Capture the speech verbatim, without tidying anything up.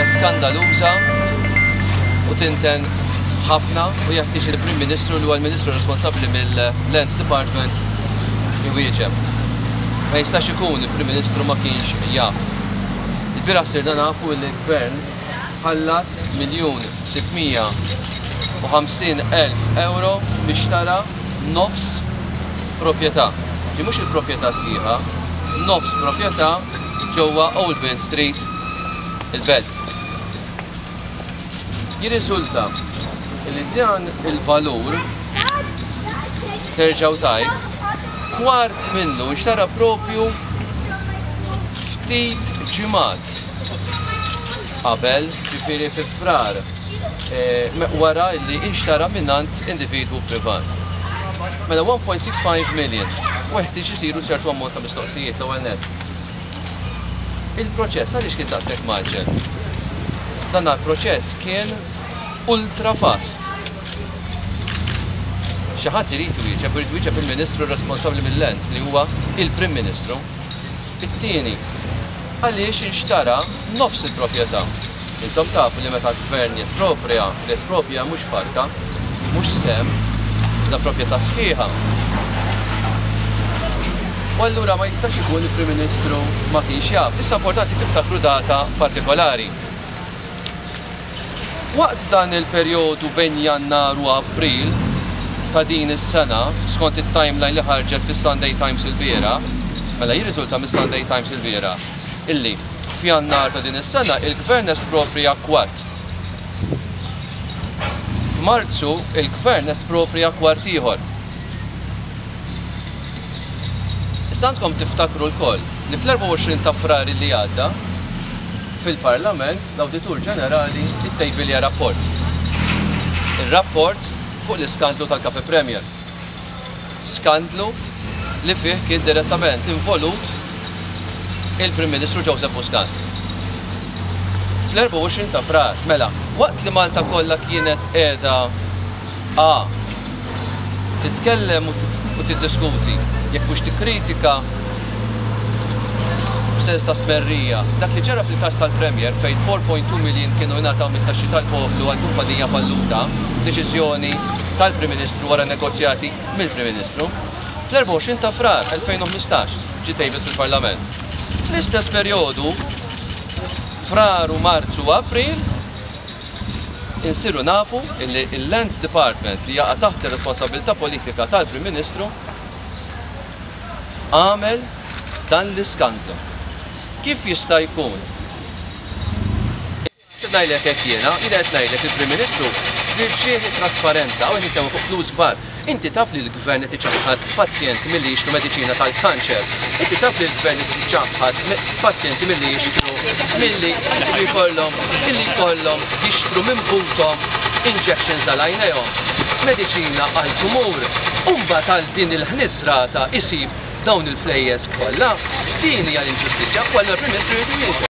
Hija skandaluża u tinten ħafna u jeħtieġ il-Prim Ministru, li huwa l-Ministru responsabbli mill-Lands Department, iwieġeb. Ma jistax ikun il-Prim Ministru ma kienx jaf. Il-bieraħ sirna nafu li l-Gvern ħallas miljun sittmija u ħamsin elf euro biex tara nofs proprjetà. Ġi mhux il-proprjetà sħiħa, nofs proprjetà ġewwa Old Main Street, il-Belt. Jirriżulta li dan il-valur, terġgħu tajt, kwart minnu nxtara propju ftit ġimgħat qabel, ġifieri fi Frar, eh, wara li inxtara minnant individwu privat. Mela one point six five million, u jeħtieġ isiru ċertu ammont ta' mistoqsijiet. L-ewwel nett. Il-proċess għaliex kien daqshekk maġġel? Dan il-proċess kien ultra fast. Xi ħadd irid iwieġeb, irid iwieġeb il-Ministru responsabbli mill-Lands, li huwa il-Prim Ministru. It-tieni, għaliex inxtara nofs il-proprjetà? Intom tafu li meta l-gvern jesproprja, l-esproprja mhux farka, mhux sem, iżda proprjetà sħiħa. U allura ma jistax ikun il-Prim Ministru ma kienx jaf. Issa importanti tiftakru data partikolari. Waqt dan il-perjodu bejn Jannar u April ta' din is-sena, skont it-timeline li ħarġet fis-Sunday Times il-bieraħ, mela jirriżulta mis-Sunday Times il-bieraħ illi f'Jannar ta' din is-sena il-Gvern esproprja kwart. F'Marzu il-Gvern esproprja kwart ieħor. Issa għandkom tiftakru lkoll li fl-erbgħa u għoxrin ta' Frar li għadda fil-Parlament l-Awditur Ġenerali ittejbilja rapport. Ir-rapport fuq l-iskandlu tal-Cafe Premier. Skandlu li fih kien direttament involut il-Prim Ministru Joseph Muscat. Fl-erbgħa u għoxrin ta' Frar, mela, waqt li Malta kollha kienet qiegħda A titkellem u tit-, u tiddiskuti, jekk mhux tikkritika b'sens ta' smerrija, dak li ġara fil-każ tal-Premier fejn four point two million kienu jingħataw mit-taxxi tal-poplu għal kumpanija falluta, deċiżjoni tal-Prim Ministru wara negozjati mill-Prim Ministru, fl-erbgħa u għoxrin ta' Frar elfejn u ħmistax ġie tejbet fil-Parlament. Fl-istess perjodu, Frar u Marzu u April, insiru nafu illi il-Lands Department, li jaqa' taħt ir-responsabilità politika tal-Prim Ministru, għamel dan l-iskandlu. Kif jista' jkun? Qed ngħidlek hekk jiena, jiena qed ngħidlek il-Prim Ministru f'xieħ trasparenza, hawn nitkellmu fuq flus kbar. Inti taf li l-gvern qed iċaħħad pazjenti milli jixtru mediċina tal-kanċer. Inti taf li l-gvern qed iċaħħad pazjenti milli jixtru, milli jkollhom, milli jkollhom jixtru minn buthom injections għal għajnejhom, mediċina għal tumur, u mbagħad għal din il-ħniżrata isib dawn il-flejjes kollha. Din hija l-inġustizzja, u allura l-Prim Ministru jrid iwieġeb.